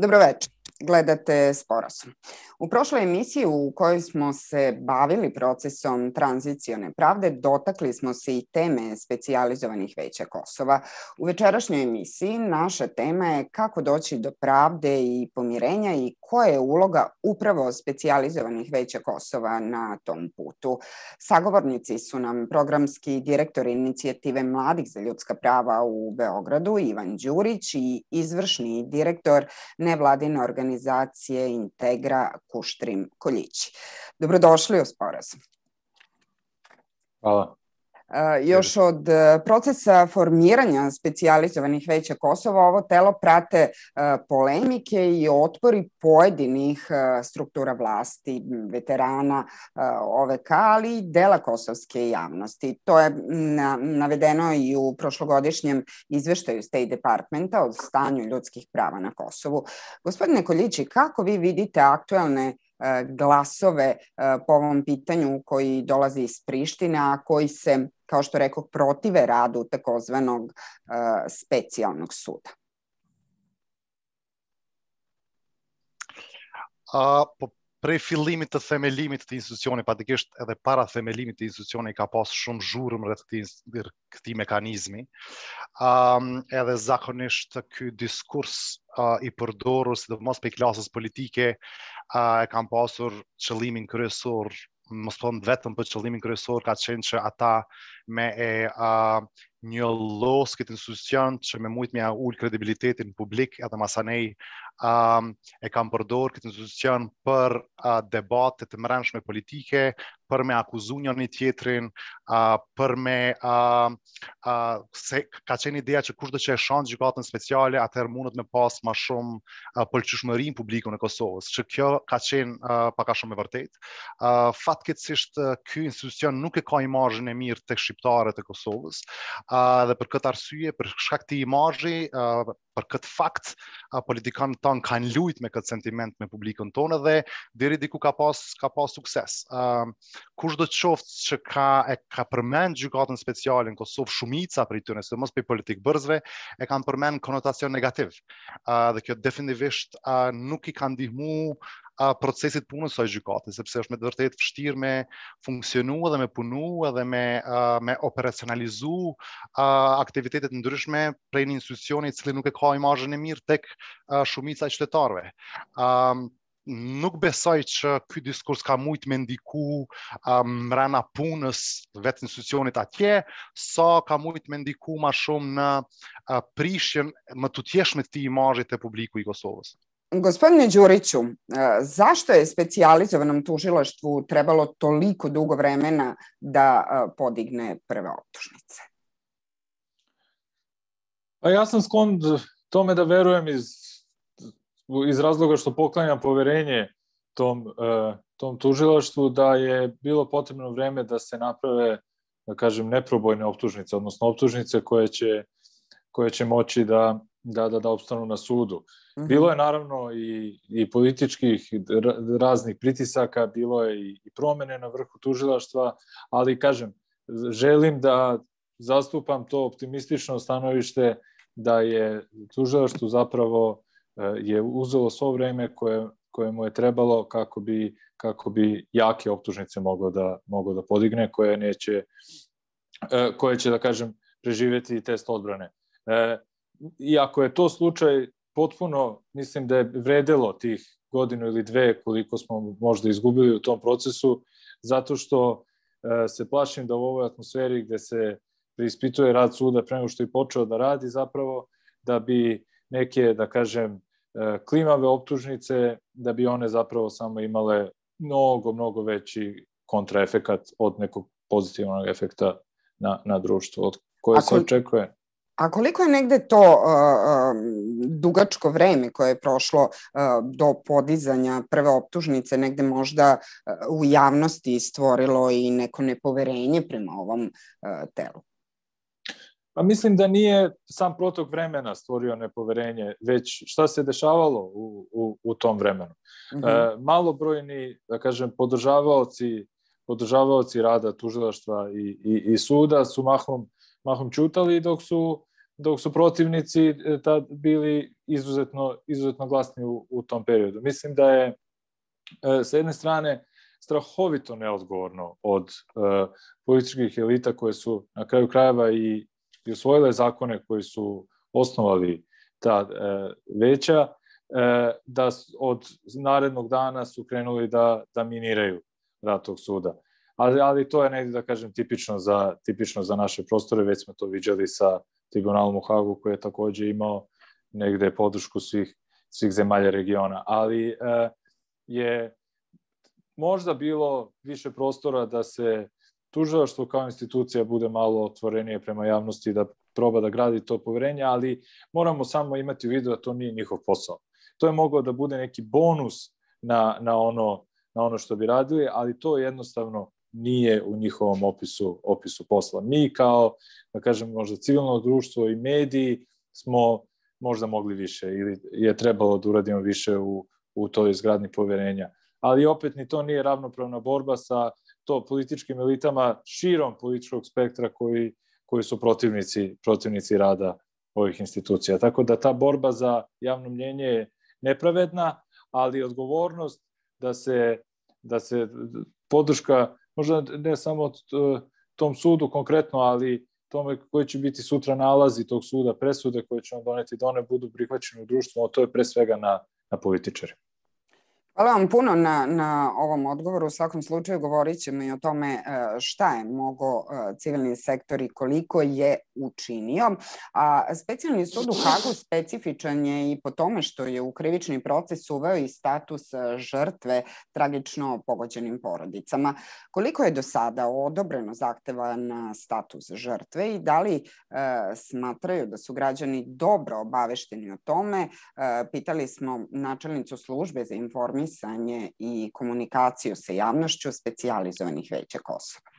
Dobroveče, gledate Sporazum. U prošloj emisiji u kojoj smo se bavili procesom tranzicione pravde, dotakli smo se i teme specijalizovanih veća Kosova. U večerašnjoj emisiji naša tema je kako doći do pravde i pomirenja i koja je uloga upravo specijalizovanih veća Kosova na tom putu. Sagovornici su nam programski direktor inicijative Mladih za ljudska prava u Beogradu, Ivan Đurić, i izvršni direktor nevladine organizacije Integra Kuštrin Koljići. Dobrodošli u Sporazum. Hvala. Još od procesa formiranja specijalizovanih veća Kosova ovo telo prate polemike i otpori pojedinih struktura vlasti, veterana OVK, ali i dela kosovske javnosti. To je navedeno i u prošlogodišnjem izveštaju State Departmenta o stanju ljudskih prava na Kosovu. Gospodine Koljići, kako vi vidite aktuelne glasove po ovom pitanju koji dolazi iz Prištine, a koji se, kao što rekoh, protive radu takozvanog specijalnog suda? Prej fillimit të themelimit të institucionit, patikisht edhe para themelimit të institucionit ka pas shumë zhurmë rreth këtij mekanizmi. Edhe zakonisht ky diskurs i përdorur sidomos prej klasës politike e kanë pasur qëllimin kryesor, mos them vetëm për qëllimin kryesor, ka qenë që ata me një los këtë institucion që me mujt me ul kredibilitetin publik edhe masanej e kam përdor këtë institucion për debate të mbrëmshme politike, për me akuzu njëri tjetrin, për me se ka qenë ideja që kushdo që e shon gjykatën speciale, atëherë mundet me pas më shumë pëlqyeshmëri në publikun e Kosovës, që kjo ka qenë pak a shumë e vërtet. Fatkeqësisht ky institucion nuk e ka imazhin e mirë tek shqiptarët e Kosovës, dhe për këtë arsye, për shkak të imazhi, për këtë fakt, politikanët tonë kanë lujt me këtë sentiment me publikun tonë dhe deri diku ka pas sukses. Kushdo qoftë që ka përmend gjykatën speciale në Kosovë, shumica prej tyre, sidomos për politik bërësve, e kanë përmend konotacion negativ. Dhe kjo definitivisht nuk i ka ndihmu procesit punës së gjykatës, sepse është me të vërtetë vështirë me funksionu dhe me punu edhe me operacionalizu aktivitetet ndryshme prej një institucioni i cili nuk e ka imazhin e mirë tek shumica e qytetarëve. Nuk besoj që ky diskurs ka mujt me ndiku mrena punës vetë institucionit atje, sa ka mujt me ndiku ma shumë në prishjen më tutjeshme të imazhit të publiku i Kosovës. Gospodine Đuriću, zašto je specijalizovanom tužilaštvu trebalo toliko dugo vremena da podigne prve optužnice? Ja sam sklon tome da verujem iz razloga što poklanjam poverenje tom tužilaštvu, da je bilo potrebno vreme da se naprave, da kažem, neprobojne optužnice, odnosno optužnice koje će moći da opstanu na sudu. Bilo je naravno i političkih raznih pritisaka, bilo je i promene na vrhu tužilaštva, ali kažem, želim da zastupam to optimistično stanovište da je tužilaštvo zapravo je uzelo svo vreme koje mu je trebalo kako bi jake optužnice moglo da podigne, koje će, da kažem, preživjeti test odbrane. I ako je to slučaj, potpuno mislim da je vredelo tih godinu ili dve koliko smo možda izgubili u tom procesu, zato što se plašim da u ovoj atmosferi gde se preispituje rad suda pre nego što je počeo da radi, zapravo da bi neke, da kažem, klimave optužnice, da bi one zapravo samo imale mnogo veći kontraefekat od nekog pozitivnog efekta na društvo, od koje se očekuje. A koliko je negde to dugačko vreme koje je prošlo do podizanja prve optužnice negde možda u javnosti stvorilo i neko nepoverenje prema ovom telu? Pa mislim da nije sam protok vremena stvorio nepoverenje, već šta se dešavalo u tom vremenu. Malobrojni, da kažem, podržavaoci rada tužilaštva i suda su mahom ćutali dok su dok su protivnici tad bili izuzetno glasni u tom periodu. Mislim da je s jedne strane strahovito neodgovorno od političkih elita koje su na kraju krajeva i usvojile zakone koji su osnovali ta veća, da od narednog dana su krenuli da miniraju rad tog suda. Ali to je negdje, da kažem, tipično za naše prostore. Već smo to viđali sa tribunalom u Hagu, koji je također imao negde podršku svih zemalja regiona. Ali je možda bilo više prostora da se tužilaštvo kao institucija bude malo otvorenije prema javnosti, da proba da gradi to poverenje, ali moramo samo imati u vidu da to nije njihov posao. To je moglo da bude neki bonus na ono što bi radili, ali to jednostavno nije u njihovom opisu posla. Mi kao, da kažem, možda civilno društvo i mediji smo možda mogli više ili je trebalo da uradimo više u toj izgradnji poverenja. Ali opet ni to nije ravnopravna borba sa to političkim elitama širom političkog spektra koji su protivnici rada ovih institucija. Tako da ta borba za javno mnjenje je nepravedna, ali odgovornost da se podrška, možda ne samo tom sudu konkretno, ali tome koji će biti sutra nalazi tog suda, presude koje će on doneti, da one budu prihvaćene u društvu, to je pre svega na političari. Hvala vam puno na ovom odgovoru. U svakom slučaju govorit ćemo i o tome šta je mogao civilni sektor i koliko je učinio. A Specijalni sud u Hagu specifičan je i po tome što je u krivični proces uveo i status žrtve tragično pogođenim porodicama. Koliko je do sada odobreno zahteva na status žrtve i da li smatraju da su građani dobro obavešteni o tome? Pitali smo načelnicu službe za informisanje i komunikaciju sa javnošću specijalizovanih veća Kosova.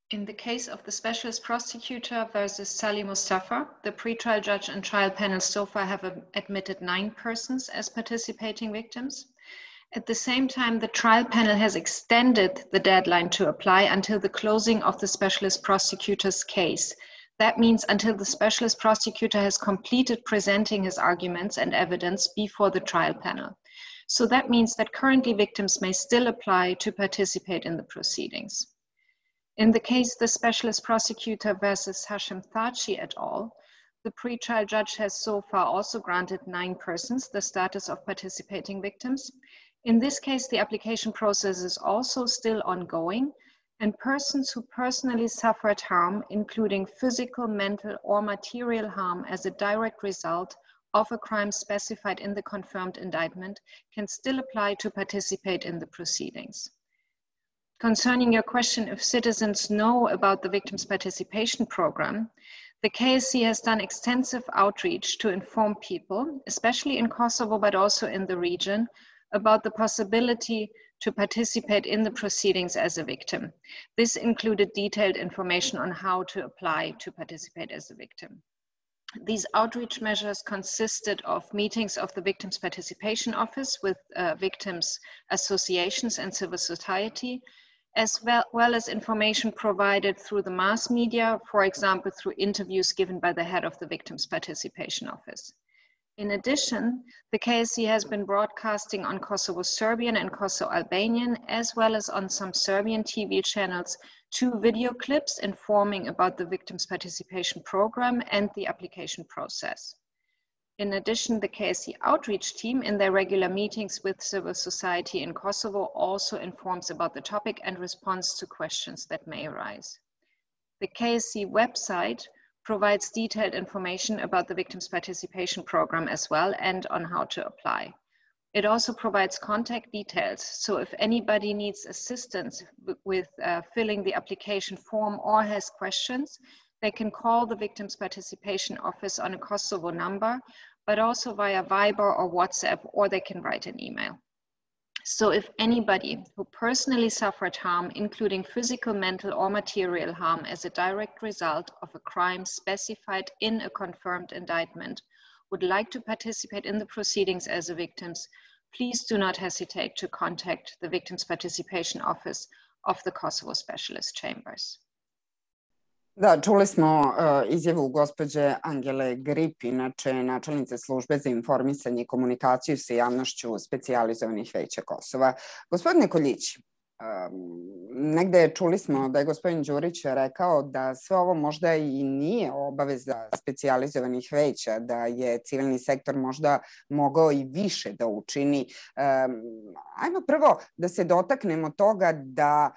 In the case of the specialist prosecutor versus Salih Mustafa, the pretrial judge and trial panel so far have admitted 9 persons as participating victims. At the same time, the trial panel has extended the deadline to apply until the closing of the specialist prosecutor's case. That means until the specialist prosecutor has completed presenting his arguments and evidence before the trial panel. So that means that currently victims may still apply to participate in the proceedings. In the case the specialist prosecutor versus Hashim Thachi et al., the pretrial judge has so far also granted 9 persons the status of participating victims. In this case, the application process is also still ongoing, and persons who personally suffered harm, including physical, mental, or material harm as a direct result of a crime specified in the confirmed indictment, can still apply to participate in the proceedings. Concerning your question if citizens know about the Victims' Participation Program, the KSC has done extensive outreach to inform people, especially in Kosovo, but also in the region, about the possibility to participate in the proceedings as a victim. This included detailed information on how to apply to participate as a victim. These outreach measures consisted of meetings of the Victims' Participation Office with victims' associations and civil society, as well as information provided through the mass media, for example, through interviews given by the head of the Victims' Participation Office. In addition, the KSC has been broadcasting on Kosovo Serbian and Kosovo Albanian, as well as on some Serbian TV channels, 2 video clips informing about the Victims' Participation Program and the application process. In addition, the KSC outreach team in their regular meetings with civil society in Kosovo also informs about the topic and responds to questions that may arise. The KSC website provides detailed information about the Victims' Participation Program as well and on how to apply. It also provides contact details, so if anybody needs assistance with filling the application form or has questions, they can call the Victims' Participation Office on a Kosovo number, but also via Viber or WhatsApp, or they can write an email. So if anybody who personally suffered harm, including physical, mental, or material harm as a direct result of a crime specified in a confirmed indictment, would like to participate in the proceedings as a victims, please do not hesitate to contact the Victims' Participation Office of the Kosovo Specialist Chambers. Da, čuli smo izjavu gospođe Angele Grip, inače načelnice službe za informisanje i komunikaciju sa javnošću specijalizovanih veća Kosova. Gospodine Koljić, negde čuli smo da je gospodin Đurić rekao da sve ovo možda i nije obaveza specijalizovanih veća, da je civilni sektor možda mogao i više da učini. Ajmo prvo da se dotaknemo toga da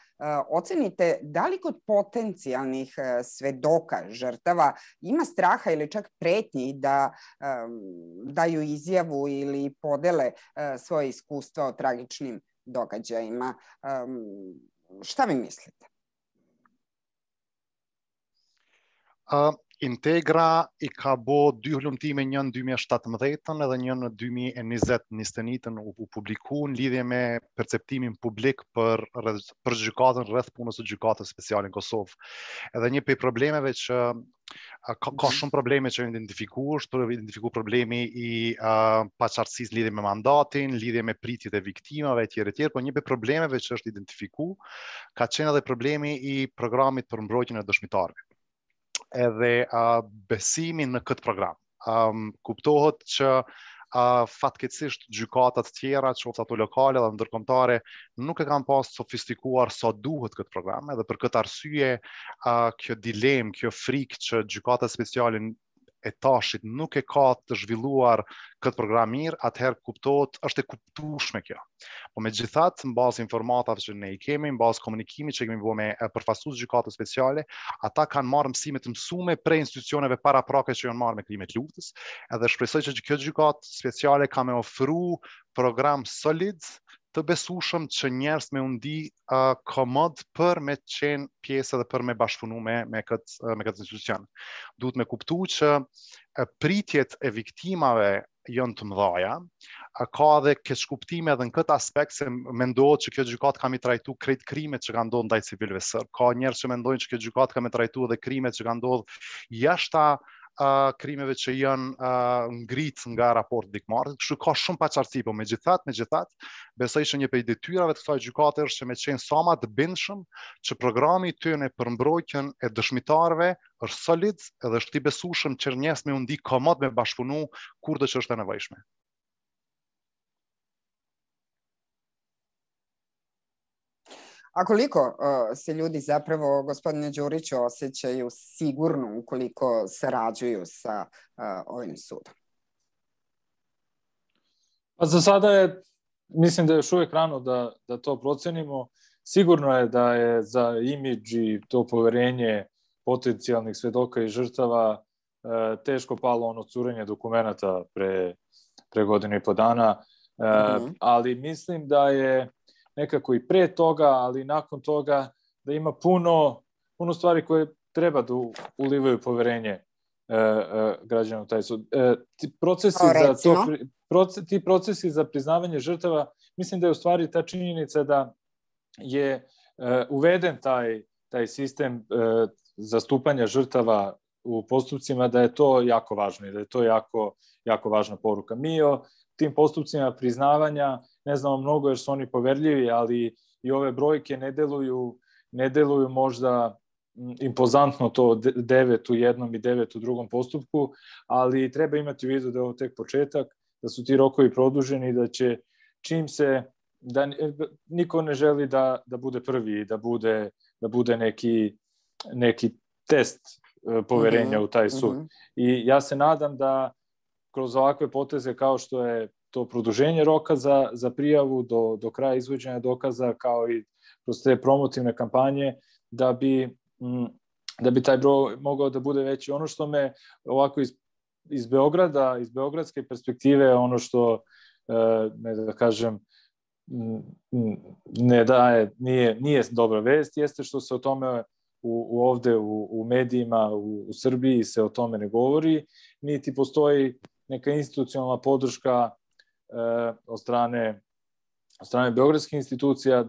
ocenite da li kod potencijalnih svedoka žrtava ima straha ili čak pretnji da daju izjavu ili podele svoje iskustva o tragičnim događajima. Šta vi mislite? Integra I ka bo dy hulumtime, njën 2017 edhe njën në 2020 u publiku në lidhje me perceptimin publik për gjykatën rreth punës së gjykatës speciale në Kosovë. Edhe një prej problemeve që ka shumë probleme që identifiku problemi I paqartësisë lidhje me mandatin, lidhje me pritjet e viktimave etj, por një prej problemeve që është identifiku ka qenë edhe problemi I programit për mbrojtjen e dëshmitarëve. Edhe besimin në këtë program. Kuptohet që fatkeqësisht gjykatat tjera, qoftë ato lokale dhe ndërkombëtare, nuk e kanë pas sofistikuar sa duhet këtë program, edhe për këtë arsye kjo dilemë, kjo frikë që gjykatat speciale e tashit nuk e ka të zhvilluar këtë program mirë, atëherë kuptohet, është e kuptueshme kjo. Po megjithatë, në bazë informatave që ne I kemi, në bazë komunikimit që kemi bërë me përfaqësues gjykatës speciale, ata kanë marrë mësime të mësuame prej institucioneve paraprake që janë marrë me krimet lutës, edhe shpresoj që kjo gjykatë speciale ka me ofru program solid të besueshëm që njerëz me undi komod për me qenë pjesë dhe për me bashkëpunu me këtë institucion. Duhet me kuptu që pritjet e viktimave janë të mëdhaja, ka edhe keqkuptime edhe në këtë aspekt se mendohet që kjo gjykatë ka mi trajtu krejt krimet që ka ndodhur ndaj civilëve serb. Ka njerëz që mendojnë që kjo gjykatë ka mi trajtu edhe krimet që ka ndodhur jashta krimeve që janë ngrit nga raporti dikmarrës. Kështu ka shumë paqartësi, po megjithatë, besoj që një prej detyrave të kësaj gjykate është që me qenë sa më të bindshëm që programi I tyre për mbrojtjen e dëshmitarëve është solid edhe është I besueshëm që njerëz me u ndi komod me bashkëpunu kurdo që është e nevojshme. A koliko se ljudi zapravo, gospodine Đuriću, osjećaju sigurno ukoliko sarađuju sa ovim sudom? Pa za sada mislim da je još uvijek rano da to procenimo. Sigurno je da je za imidž I to poverenje potencijalnih svedoka I žrtava teško palo ono curenje dokumenata pre godinu I po dana, ali mislim da je nekako I pre toga, ali nakon toga da ima puno stvari koje treba da ulivaju poverenje građana u taj sud. Ti procesi za priznavanje žrtava, mislim da je u stvari ta činjenica da je uveden taj sistem zastupanja žrtava u postupcima, da je to jako važno I da je to jako važna poruka. Mi o tim postupcima priznavanja ne znamo mnogo jer su oni poverljivi, ali I ove brojke ne deluju možda impozantno to 9 u jednom I 9 u drugom postupku, ali treba imati u vidu da je ovo tek početak, da su ti rokovi produženi I da će čim se, da niko ne želi da bude prvi I da bude neki test poverenja u taj sud. I ja se nadam da kroz ovakve poteze kao što je to produženje roka za prijavu do kraja izvođenja dokaza, kao I kroz te promotivne kampanje, da bi taj broj mogao da bude veći. Ono što me ovako iz Beograda, iz beogradske perspektive, ono što, ne da kažem, ne daje, nije dobra vest, jeste što se o tome ovde u medijima u Srbiji se o tome ne govori, niti postoji neka institucionalna podrška od strane strane beogradskih institucija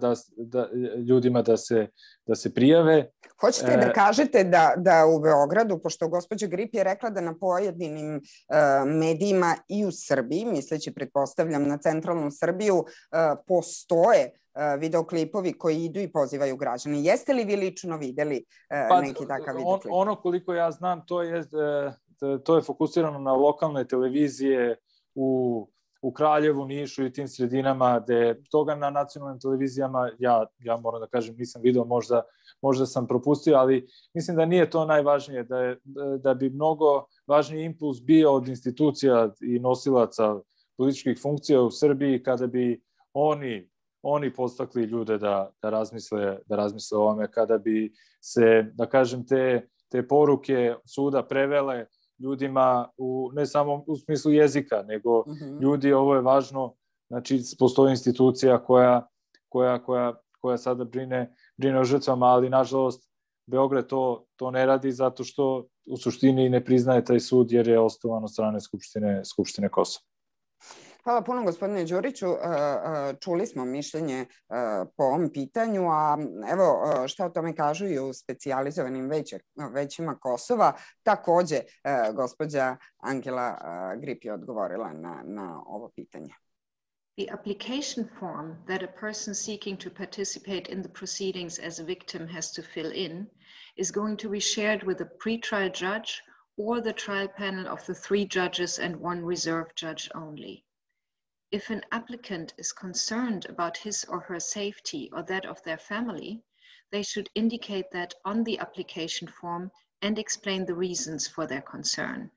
ljudima da se prijave. Hoćete da kažete da u Beogradu, pošto gospođa Grip je rekla da na pojedinim medijima i u Srbiji, misleći pretpostavljam na centralnu Srbiju, postoje videoklipovi koji idu i pozivaju građane. Jeste li vi lično videli neki takav videoklip? Ono koliko ja znam, to je fokusirano na lokalne televizije u Kraljevu, Nišu i tim sredinama, gde toga na nacionalnim televizijama, ja moram da kažem, nisam video, možda sam propustio, ali mislim da nije to najvažnije, da bi mnogo važniji impuls bio od institucija i nosilaca političkih funkcija u Srbiji kada bi oni podstakli ljude da razmisle o ovome, kada bi se, da kažem, te poruke suda prevele ljudima ne samo u smislu jezika, nego ljudi, ovo je važno, znači postoji institucija koja sada brine o žrtvama, ali nažalost Beograd to ne radi zato što u suštini ne priznaje taj sud jer je osnovan od strane Skupštine Kosova. Hvala puno, gospodine Đuriću. Čuli smo mišljenje po ovom pitanju, a evo šta o tome kažu i u specijalizovanim većima Kosova. Takođe, gospođa Angela Grip je odgovorila na ovo pitanje. The application form that a person seeking to participate in the proceedings as a victim has to fill in is going to be shared with a pretrial judge or the trial panel of the 3 judges and 1 reserve judge only. If an applicant is concerned about his or her safety or that of their family, they should indicate that on the application form and explain the reasons for their concern.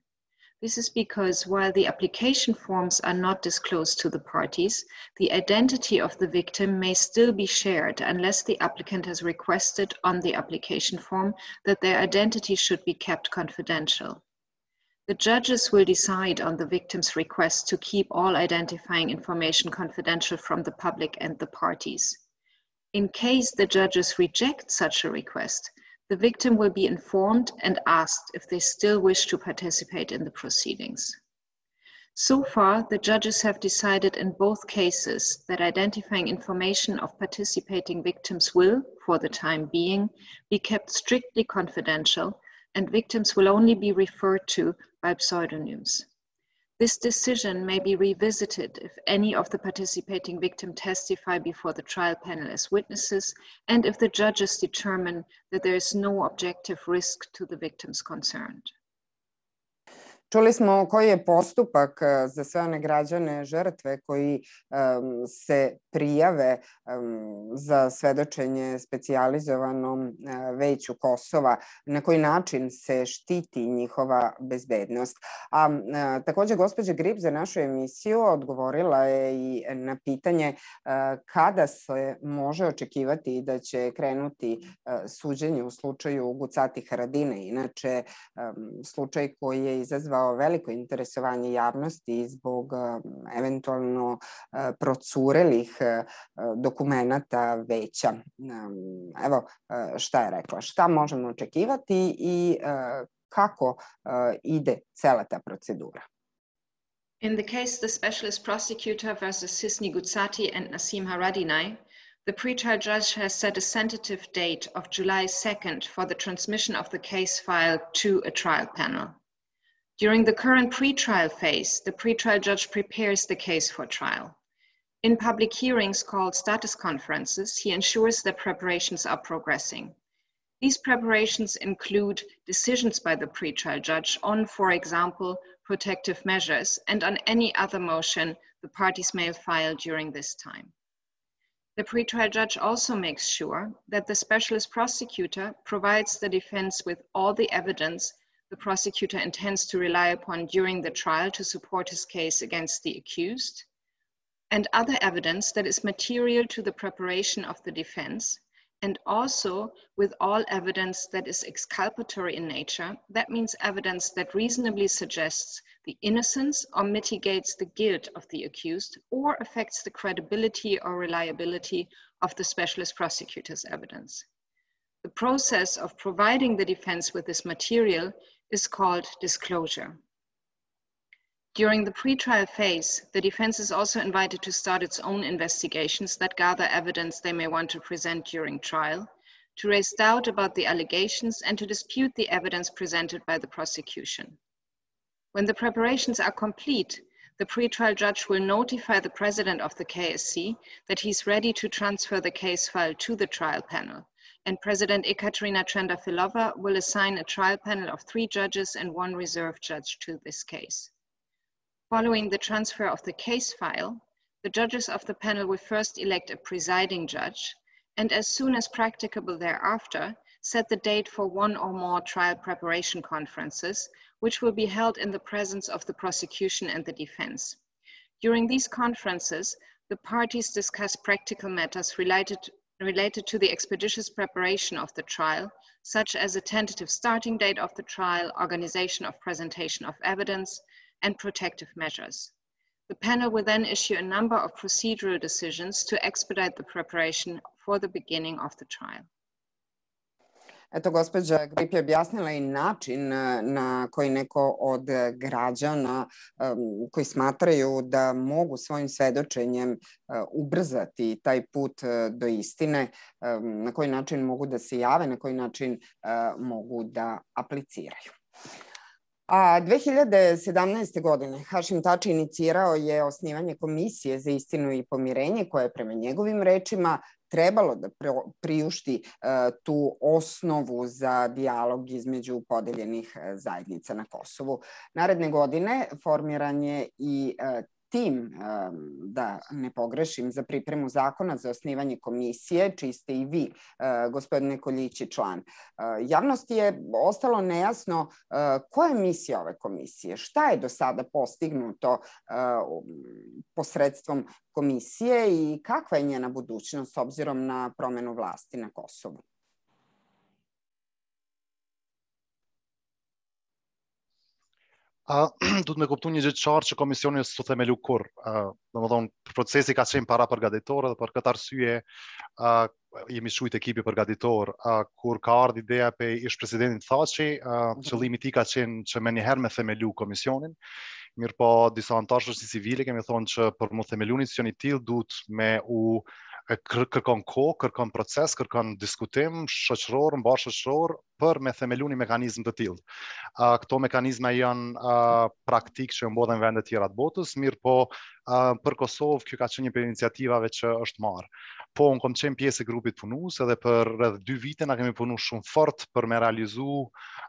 This is because while the application forms are not disclosed to the parties, the identity of the victim may still be shared unless the applicant has requested on the application form that their identity should be kept confidential. The judges will decide on the victim's request to keep all identifying information confidential from the public and the parties. In case the judges reject such a request, the victim will be informed and asked if they still wish to participate in the proceedings. So far, the judges have decided in both cases that identifying information of participating victims will, for the time being, be kept strictly confidential, and victims will only be referred to by pseudonyms. This decision may be revisited if any of the participating victims testify before the trial panel as witnesses and if the judges determine that there is no objective risk to the victims concerned. Čuli smo koji je postupak za sve one građane žrtve koji se prijave za svedočenje specijalizovanom veću Kosova, na koji način se štiti njihova bezbednost. A takođe, gospođa Grip za našu emisiju odgovorila je i na pitanje kada se može očekivati da će krenuti suđenje u slučaju Gucati Haradine, inače slučaj koji je izazvao veliko interesovanje javnosti zbog eventualno procurelih dokumenata veća. Evo šta je rekla, šta možemo očekivati i kako ide cela ta procedura. In the case the specialist prosecutor versus Sisni Gucati and Nassim Haradinaj, the pretrial judge has set a tentative date of July 2nd for the transmission of the case file to a trial panel. During the current pretrial phase, the pretrial judge prepares the case for trial. In public hearings called status conferences, he ensures that preparations are progressing. These preparations include decisions by the pretrial judge on, for example, protective measures and on any other motion the parties may file during this time. The pretrial judge also makes sure that the specialist prosecutor provides the defense with all the evidence the prosecutor intends to rely upon during the trial to support his case against the accused, and other evidence that is material to the preparation of the defense, and also with all evidence that is exculpatory in nature. That means evidence that reasonably suggests the innocence or mitigates the guilt of the accused or affects the credibility or reliability of the specialist prosecutor's evidence. The process of providing the defense with this material is called disclosure. During the pretrial phase, the defense is also invited to start its own investigations that gather evidence they may want to present during trial, to raise doubt about the allegations and to dispute the evidence presented by the prosecution. When the preparations are complete, the pretrial judge will notify the president of the KSC that he's ready to transfer the case file to the trial panel, and President Ekaterina Trendafilova will assign a trial panel of 3 judges and 1 reserve judge to this case. Following the transfer of the case file, the judges of the panel will first elect a presiding judge, and as soon as practicable thereafter, set the date for 1 or more trial preparation conferences, which will be held in the presence of the prosecution and the defense. During these conferences, the parties discuss practical matters related to the expeditious preparation of the trial, such as a tentative starting date of the trial, organization of presentation of evidence, and protective measures. The panel will then issue a number of procedural decisions to expedite the preparation for the beginning of the trial. Eto, gospođa Grip je objasnila i način na koji neko od građana koji smatraju da mogu svojim svedočenjem ubrzati taj put do istine, na koji način mogu da se jave, na koji način mogu da apliciraju. A 2017. godine Hašim Tači inicirao je osnivanje Komisije za istinu i pomirenje koja je prema njegovim rečima trebalo da priušti tu osnovu za dijalog između podeljenih zajednica na Kosovu. Naredne godine formiran je i tim, da ne pogrešim, za pripremu zakona za osnivanje komisije, čiji ste i vi, gospodine Koljići, član. Javnosti je ostalo nejasno koja je misija ove komisije, šta je do sada postignuto posredstvom komisije i kakva je njena budućnost s obzirom na promenu vlasti na Kosovu. Duhet me kuptu një gjë të qartë që komisioni s'u themelu kurrë. Domethënë procesi ka qenë para përgatitor dhe për këtë arsye jemi shujt ekipi përgatitor. Kur ka ardhur ideja pe ish presidentit Thaçi, qëllimi i tij ka qenë që më njëherë me themelu komisionin. Mirë po disa anëtarë shoqërisë civile kemi thonë që për mu themelu një institucion i tillë duhet me u kërkon kohë, kërkon proces, kërkon diskutim shoqëror, mbar shoqëror për me themelu një mekanizëm të tillë. Këto mekanizma janë praktik që mbodhen vende të tjera të botës, mirë po për Kosovë kjo ka qenë një për iniciativave që është marrë. Po unë kom qenë pjesë e grupit punues edhe për rreth 2 vite na kemi punu shumë fort për me realizu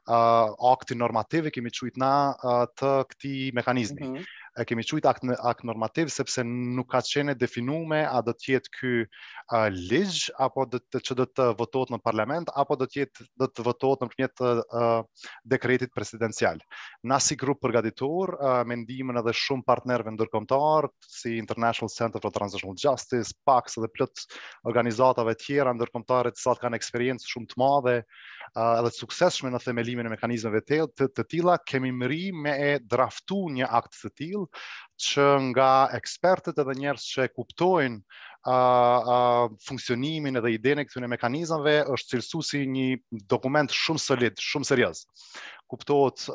aktin normativ, kemi quajtur na të këtij mekanizmi. Kemi quajtur akt normativ sepse nuk ka qenë definuar a do të jetë ky ligj apo që do të votohet në parlament apo do të votohet nëpërmjet dekretit presidencial. Na si grup përgatitor me ndihmën edhe shumë partnerëve ndërkombëtar si International Center for Transitional Justice, PAX dhe plot organizatave tjera ndërkombëtare të cilat kanë eksperiencë shumë të madhe edhe të suksesshme në themelimin e mekanizmeve të tilla, kemi mri me e draftu një akt të tillë që nga ekspertët edhe njerëz që kuptojnë funksionimin edhe idenë e këtyre mekanizmave është cilësuar si një dokument shumë solid, shumë serioz. Kuptohet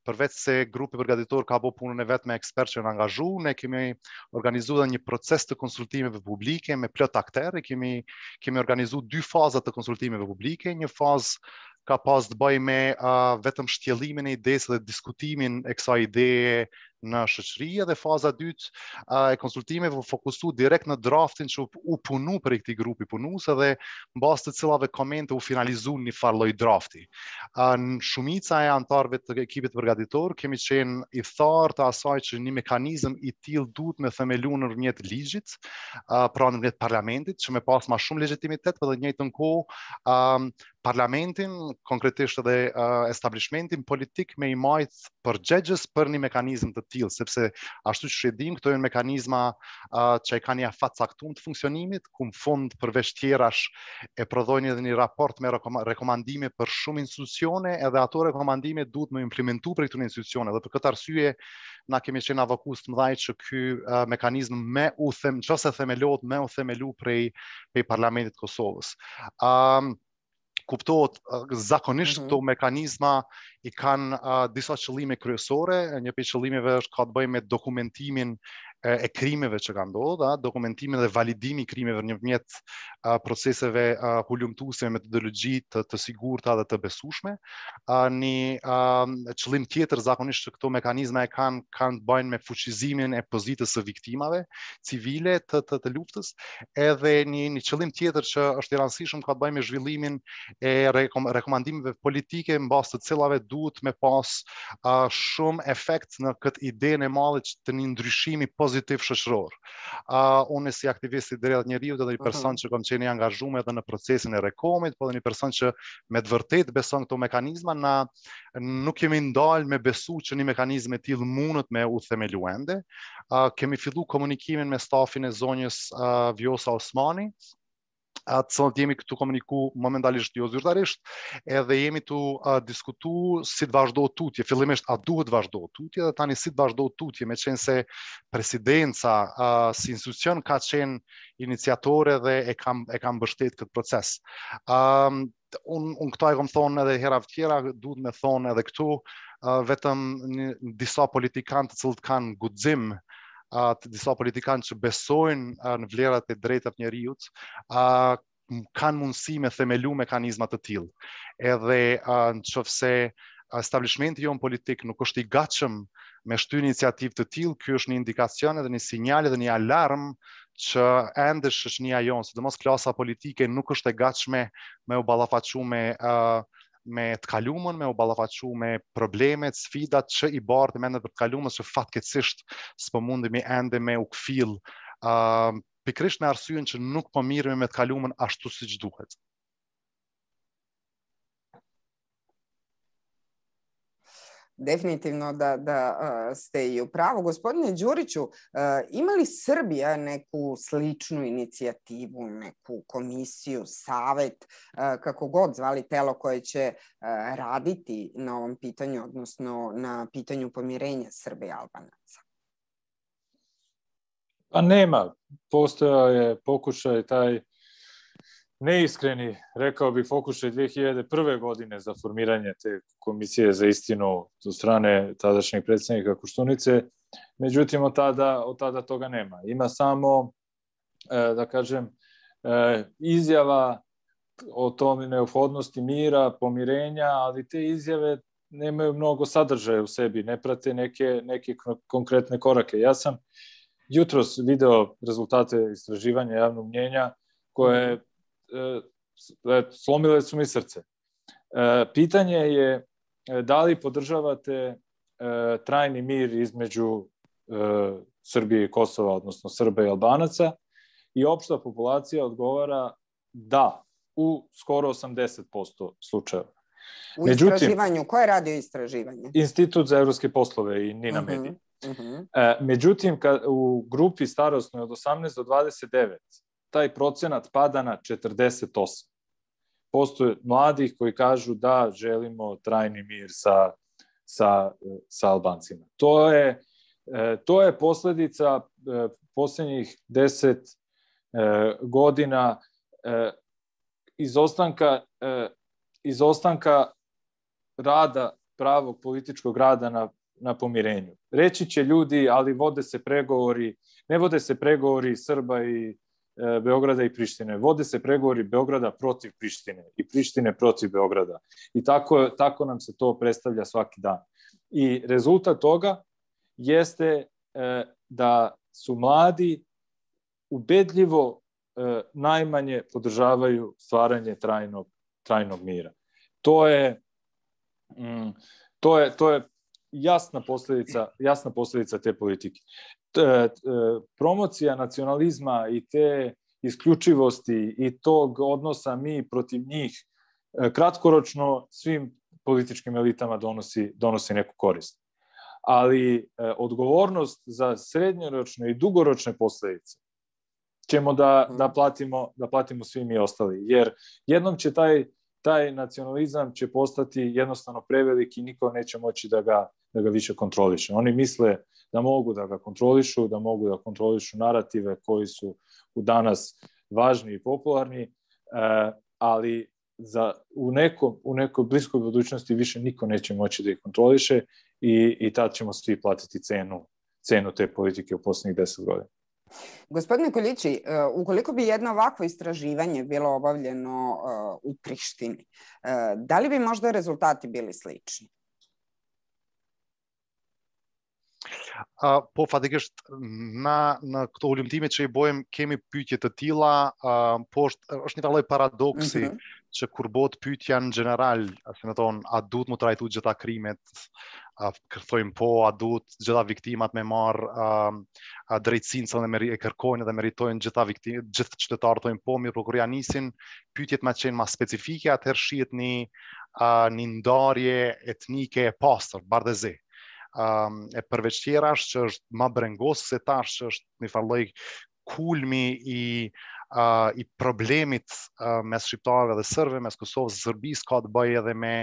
përveç se grupi përgatitor ka bërë punën e vet me ekspertë që janë angazhu, ne kemi organizuar një proces të konsultimeve publike me plot aktorë, kemi organizuar 2 faza të konsultimeve publike, një fazë ka pas të bëjë me vetëm shtjellimin e idesë dhe diskutimin e kësaj ideje në shoqëri dhe faza e dytë e konsultimeve u fokusu direkt në draftin që u punu për këtij grupi punues dhe mbas të cilave komente u finalizu një farë lloj drafti. Shumica e anëtarëve të ekipit përgatitor kemi qenë i tharë të asaj që një mekanizëm i tillë duhet me themelu nëpërmjet ligjit, pra nëpërmjet parlamentit, që me pas më shumë legjitimitet, por në të njëjtën kohë parlamentin, konkretisht edhe establishmentin politik me i majtë përgjegjës për një mekanizëm të tillë, sepse ashtu që e dim, këto janë mekanizma që e kanë një afat caktuar të funksionimit, ku në fund përveç tjerash e prodhojnë edhe një raport me rekomandime për shumë institucione, edhe ato rekomandime duhet me implementu për këtyre institucione, dhe për këtë arsye na kemi qenë avokus të mëdhaj që ky mekanizëm nëse themelohet me u themelu prej Parlamentit të Kosovës. kuptohet zakonisht këto mekanizma i kanë disa qëllime kryesore. Një prej qëllimeve është ka të bëjë me dokumentimin e krimeve që kanë ndodhur, dokumentimin dhe validimi i krimeve nëpërmjet proceseve hulumtuese me metodologji të sigurta dhe të besueshme. Një qëllim tjetër zakonisht që këto mekanizma e kanë të bëjnë me fuqizimin e pozitës së viktimave civile të luftës, edhe një qëllim tjetër që është i rëndësishëm ka të bëjë me zhvillimin e rekomandimeve politike mbas të cilave duhet me pas shumë efekt në këtë idenë e madhe të një ndryshimi pozitiv shoqëror. Unë si aktivist i drejtat njerëzit dhe një person që kam qenë i angazhuar edhe në procesin e Rekomit, po dhe një person që me të vërtetë beson këto mekanizma, nuk kemi ndalë me besu që një mekanizëm e tillë mundet me u themelu ende. Kemi filluar komunikimin me stafin e zonjës Vjosa Osmani, të cilët jemi këtu komuniku momentalisht jo zyrtarisht, edhe jemi tu diskutu si të vazhdohet tutje. Fillimisht a duhet vazhdohet tutje, dhe tani si të vazhdohet tutje, me qenë se presidenca si institucion ka qenë iniciatore dhe e kam mbështet këtë proces. Unë këta e kom thonë edhe hera tjera, duhet me thonë edhe këtu, vetëm disa politikanë të cilët kanë guxim, të disa politikanë që besojnë në vlerat e drejtat njerëzit, kanë mundësi me themelu mekanizma të tillë. Edhe nëse establishmenti jon politik nuk është i gatshëm me shty iniciativë të tillë, ky është një indikacion edhe një sinjal edhe një alarm që ende shoqënia jon, sidomos klasa politike, nuk është e gatshme me u ballafaqu me të kalumën, me u ballafaqu me problemet, sfidat që i bardhë me të kalumës që fatkeqësisht s'po mundemi ende me u kfill, pikërisht në arsyen që nuk po mirëmi me të kalumën ashtu siç duhet. Definitivno da ste i u pravu. Gospodine Đuriću, ima li Srbija neku sličnu inicijativu, neku komisiju, savet, kako god zvali, telo koje će raditi na ovom pitanju, odnosno na pitanju pomirenja Srba i Albanaca? Pa nema. Postojao je pokušaj taj neiskreni, rekao bih, pokušaj 2001. godine za formiranje te komisije za istinu od strane tadašnjeg predsjednika Koštunice. Međutim, od tada toga nema. Ima samo, da kažem, izjava o tome neophodnosti mira, pomirenja, ali te izjave nemaju mnogo sadržaja u sebi, ne prate neke konkretne korake. Ja sam jutros video rezultate istraživanja javnog mnjenja koje slomile su mi srce. Pitanje je da li podržavate trajni mir između Srbije i Kosova, odnosno Srba i Albanaca, i opšta populacija odgovara da u skoro 80% slučajeva. U istraživanju, ko je radio istraživanje? Institut za evropske poslove i Nina Medija. Međutim, u grupi starosnoj od 18 do 29 taj procenat pada na 48. Postoje mladih koji kažu da želimo trajni mir sa Albancima. To je posledica posljednjih 10 godina izostanka rada, pravog političkog rada na pomirenju. Reći će ljudi, ali ne vode se pregovori Srba i Beograda i Prištine. Vode se pregovori Beograda protiv Prištine i Prištine protiv Beograda. I tako nam se to predstavlja svaki dan. I rezultat toga jeste da su mladi ubedljivo najmanje podržavaju stvaranje trajnog mira. To je jasna posljedica te politike. Promocija nacionalizma i te isključivosti i tog odnosa mi protiv njih kratkoročno svim političkim elitama donosi neku korist. Ali odgovornost za srednjoročne i dugoročne posljedice ćemo da platimo svi mi ostali. Jer jednom će taj nacionalizam će postati jednostavno prevelik i niko neće moći da ga više kontroliše. Oni misle da mogu da ga kontrolišu, da mogu da kontrolišu narative koji su u danas važni i popularni, ali u nekoj bliskoj budućnosti više niko neće moći da ih kontroliše i tad ćemo svi platiti cenu te politike u poslednjih 10 godina. Gospodine Koljići, ukoliko bi jedno ovakvo istraživanje bilo obavljeno u Prištini, da li bi možda rezultati bili slični? Po fatikisht në këto ulimtime që I bojmë kemi pyetje të tilla, po është një lloj paradoksi që kur bëhet pyetja në general, si më thon, a duhet mu trajtu gjitha krimet, thojmë po, a duhet gjitha viktimat me marr drejtësinë se e kërkojnë dhe meritojnë gjithë qytetarët thojnë po, mirë, por kur ja nisin pyetjet më qenë më specifike, atëherë shihet një ndarje etnike e pastër, bardhëzi. E përveç tjerash që është ma brengos se tash që është një farloj kulmi I problemit mes shqiptarëve dhe sërbëve, mes Kosovës dhe Serbisë ka të bëjë edhe me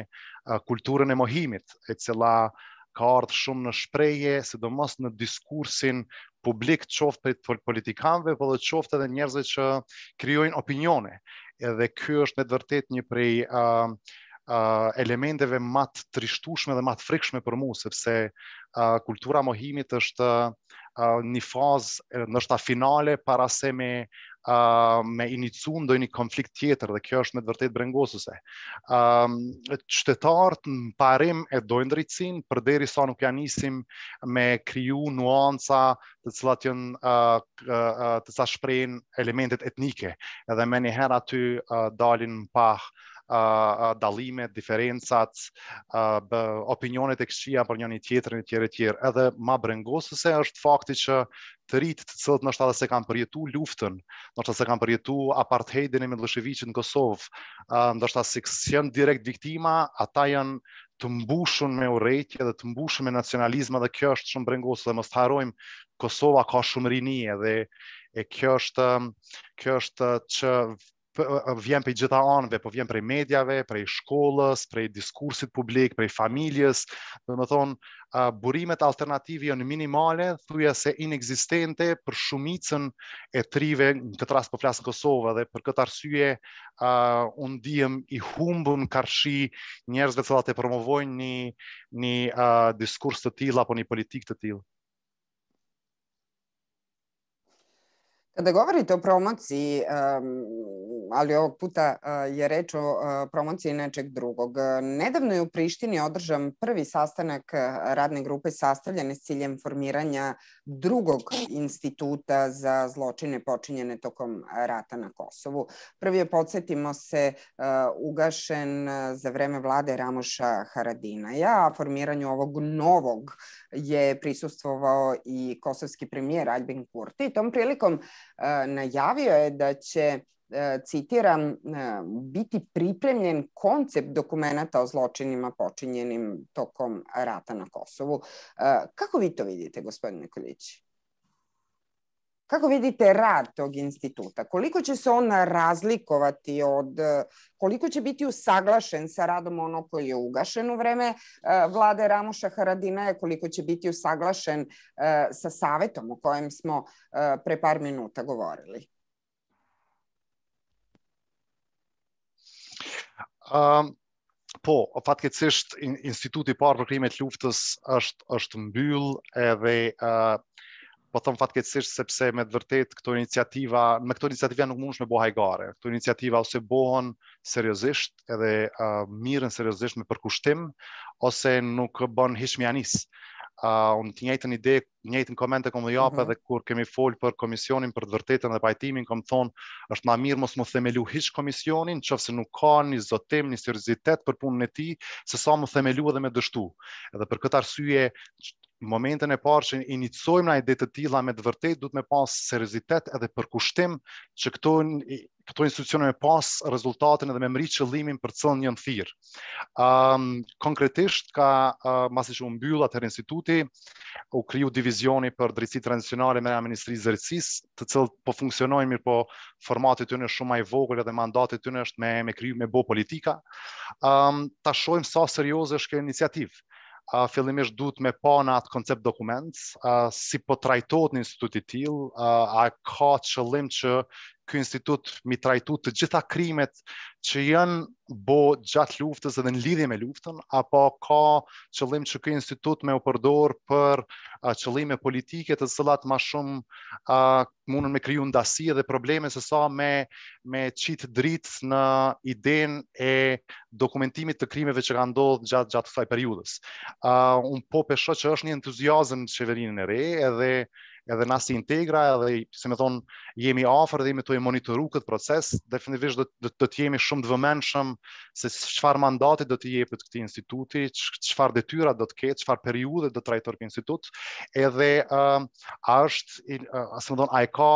kulturën e mohimit, e cila ka ardhur shumë në shprehje, sidomos në diskursin publik, qoftë për politikanëve, por edhe qoftë edhe njerëzve që krijojnë opinione. Edhe ky është me të vërtetë një prej elementeve më të trishtueshme dhe më të frikshme për mua, sepse kultura mohimit është një fazë ndoshta finale para se me inicu ndonjë konflikt tjetër dhe kjo është me të vërtetë brengosuese. Qytetarët në parim e dojnë drejtësinë përderisa nuk ja nisim me kriju nuanca të cilat janë të sa shprehin elementet etnike, edhe më një herë aty dalin pa dallimet, diferencat, opinionet e këqija për njëri tjetrin e tjerë. Edhe më brengosuese është fakti që të rinjtë të cilët ndoshta edhe se kanë përjetu luftën, ndoshta se kanë përjetu apartheidin e Miloševićit në Kosovë, ndoshta se janë direkt viktima, ata janë të mbushur me urrëtie dhe të mbushur me nacionalizëm dhe kjo është shumë brengosuese dhe mos harrojmë Kosova ka shumë rini dhe kjo është që vjen prej gjitha anëve, po vjen prej medjave, prej shkollës, prej diskursit publik, prej familjes, domethënë burimet alternative janë minimale, thujese inekzistente për shumicën e trive, në këtë rast po flas në Kosovë dhe për këtë arsye unë ndihem I humbur karshi njerëzve që e promovojnë një diskurs të tillë apo një politikë të tillë. Kada govorite o promociji, ali ovog puta je reč o promociji nečeg drugog. Nedavno je u Prištini održan prvi sastanak radne grupe sastavljene s ciljem formiranja drugog instituta za zločine počinjene tokom rata na Kosovu. Prvi je, podsjetimo se, ugašen za vreme vlade Ramoša Haradinaja, a formiranju ovog novog je prisustvovao I kosovski premijer Aljbin Kurti. Tom prilikom najavio je da će, citiram, biti pripremljen koncept dokumenata o zločinima počinjenim tokom rata na Kosovu. Kako vi to vidite, gospodine Koljići? Kako vidite rad tog instituta? Koliko će se on razlikovati koliko će biti usaglašen sa radom onog koji je ugašen u vreme vlade Ramoša Haradinaja, koliko će biti usaglašen sa savetom o kojem smo pre par minuta govorili? Po, fatkeqësisht instituti I parë për krimet luftës është mbyll edhe po them fatkeqësisht sepse me të vërtet këto iniciativa nuk mundesh me bëu hajgare. Këto iniciativa ose bëhen seriozisht edhe mirën seriozisht me përkushtim ose nuk bën hiç mjanis. Unë të njëjtën ide, njëjtën komente kom dhe japë edhe kur kemi folë për komisionin për të vërtetën dhe pajtimin, kom thonë, është ma mirë mos mu themelu hiç komisionin, qofse nuk ka një zotim, një seriozitet për punën e tij, se sa mu themelu edhe me dështu. Edhe për këtë arsye, në momentën e parë që inicojmë na ide të tilla me të vërtetë duhet me pas seriozitet edhe përkushtim që këto institucione me pas rezultatin edhe me mrit qëllimin për cilën janë thirr. Konkretisht masi që u mbyll atëherë instituti, u kriju divizioni për drejtësi tranzicionale me Ministrisë së Drejtësisë, të cilët po funksionojnë mirë, po formati tyne është shumë më I vogël edhe mandati tyne është me kriju me bë politika. Ta shohim sa serioze është kjo iniciativë. Fillimisht duhet me pa në atë koncept dokument, si po trajtohet në instituti I tillë, a ka qëllim që ky institut mi trajtu të gjitha krimet që janë bo gjatë luftës edhe në lidhje me luftën, apo ka qëllim që ky institut me u përdor për qëllime politike të cilat ma shumë mundën me kriju ndasi dhe probleme se sa me qitë dritë në idenë e dokumentimit të krimeve që ka ndodhur gjatë kësaj periudhës. Unë po pesho që është një entuziazëm në qeverinë e re, edhe na si Integra, edhe si me thonë, jemi afër dhe jemi të monitoru këtë proces, definitivisht do të jemi shumë të vëmendshëm se çfarë mandati do të jepet këtij instituti, çfarë detyra do të ketë, çfarë periudhe do të trajtojë ky institut, edhe a është, si me thonë, a e ka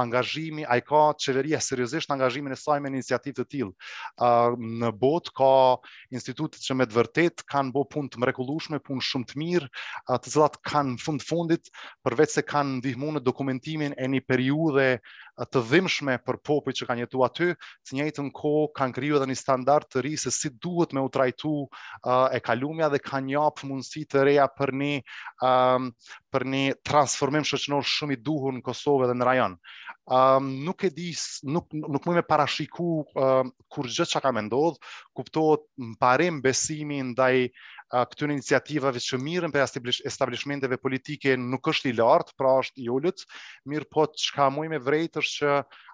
angazhimi, a e ka qeveria seriozisht angazhimin e saj me iniciativë të tillë. Në botë ka institute që me të vërtet kanë bo punë të mrekullueshme, punë shumë të mirë, të cilat kanë në fundit, përveç se kanë ndihmu në dokumentimin e një periudhe të dhimbshme për popujt që kanë jetuar aty, të njëjtën kohë kanë kriju edhe një standard të ri se si duhet me u trajtu e kalumja dhe kanë jap mundësi të reja për një transformim shoqëror shumë i duhur në Kosovë dhe në rajon. Nuk e di, nuk mund me parashiku kur gjë çka ka më ndodh, kuptohet parim besimi ndaj këtyre iniciativave që mirën për establishmenteve politike nuk është i lartë, pra është i ulët, mirë po çka muj me vrejtë është që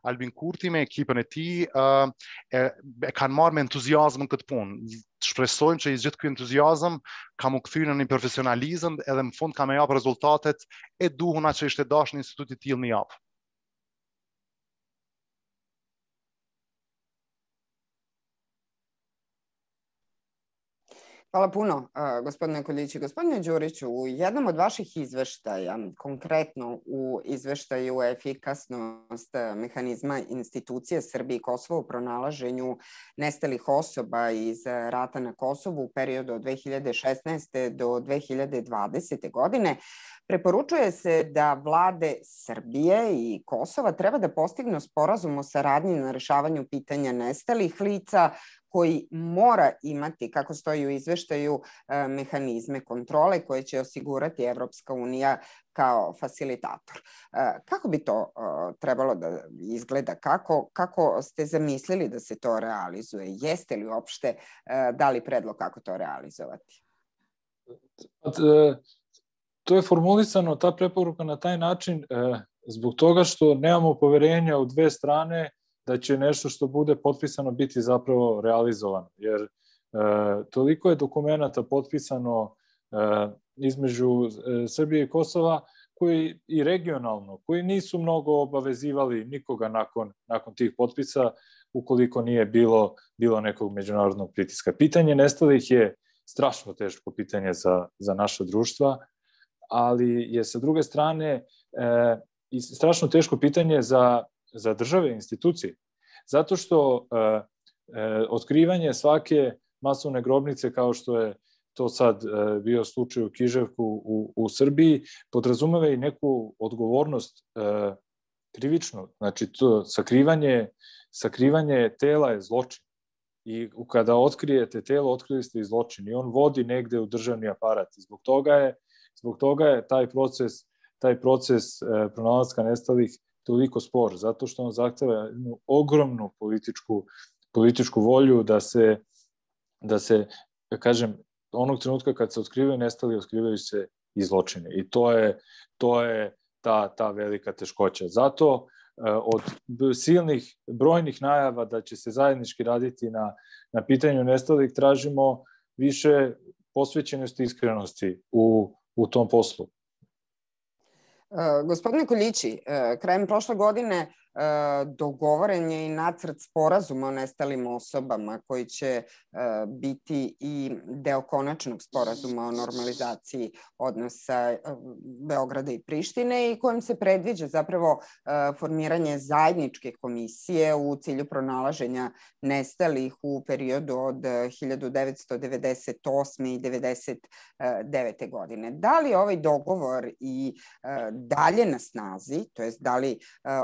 Albin Kurti me ekipën e tij e kanë marrë me entuziazëm këtë punë. Shpresojmë që i gjithë ky entuziazëm ka mu kthyer në një profesionalizëm edhe në fund ka më jap rezultatet e duhura që ishte dashur në institutit tillë më jap. Hvala puno, gospodine Koljići. Gospodine Đuriću, u jednom od vaših izveštaja, konkretno u izveštaju efikasnost mehanizma institucije Srbije i Kosova u pronalaženju nestalih osoba iz rata na Kosovu u periodu od 2016. do 2020. godine, preporučuje se da vlade Srbije i Kosova treba da postignu sporazum o saradnji na rešavanju pitanja nestalih lica, koji mora imati, kako stoji u izveštaju, mehanizme kontrole koje će osigurati Evropska unija kao facilitator. Kako bi to trebalo da izgleda? Kako ste zamislili da se to realizuje? Jeste li uopšte dali predlog kako to realizovati? To je formulisano, ta preporuka na taj način, zbog toga što nemamo poverenja u dve strane da će nešto što bude potpisano biti zapravo realizovano. Jer toliko je dokumenata potpisano između Srbije i Kosova, koji i regionalno, koji nisu mnogo obavezivali nikoga nakon tih potpisa, ukoliko nije bilo nekog međunarodnog pritiska. Pitanje nestalih je strašno teško pitanje za naša društva, ali je sa druge strane i strašno teško pitanje za države i institucije. Zato što otkrivanje svake masovne grobnice, kao što je to sad bio slučaj u Kiževku u Srbiji, podrazumeva i neku odgovornost krivičnu. Znači, to sakrivanje tela je zločin. I kada otkrijete telo, otkrili ste i zločin. I on vodi negde u državni aparat. I zbog toga je taj proces pronalaska nestalih toliko spor, zato što on zahteva jednu ogromnu političku volju da se, kažem, onog trenutka kad se otkrivaju nestali, otkrivaju se i zločine. I to je ta velika teškoća. Zato od silnih, brojnih najava da će se zajednički raditi na pitanju nestalih, tražimo više posvećenosti i iskrenosti u tom poslu. Gospodine Koljići, krajem prošle godine dogovoren je i nacrt sporazuma o nestalim osobama koji će biti i deo konačnog sporazuma o normalizaciji odnosa Beograda i Prištine i kojim se predviđa zapravo formiranje zajedničke komisije u cilju pronalaženja nestalih u periodu od 1998. i 1999. godine. Da li ovaj dogovor i dalje na snazi, to jest da li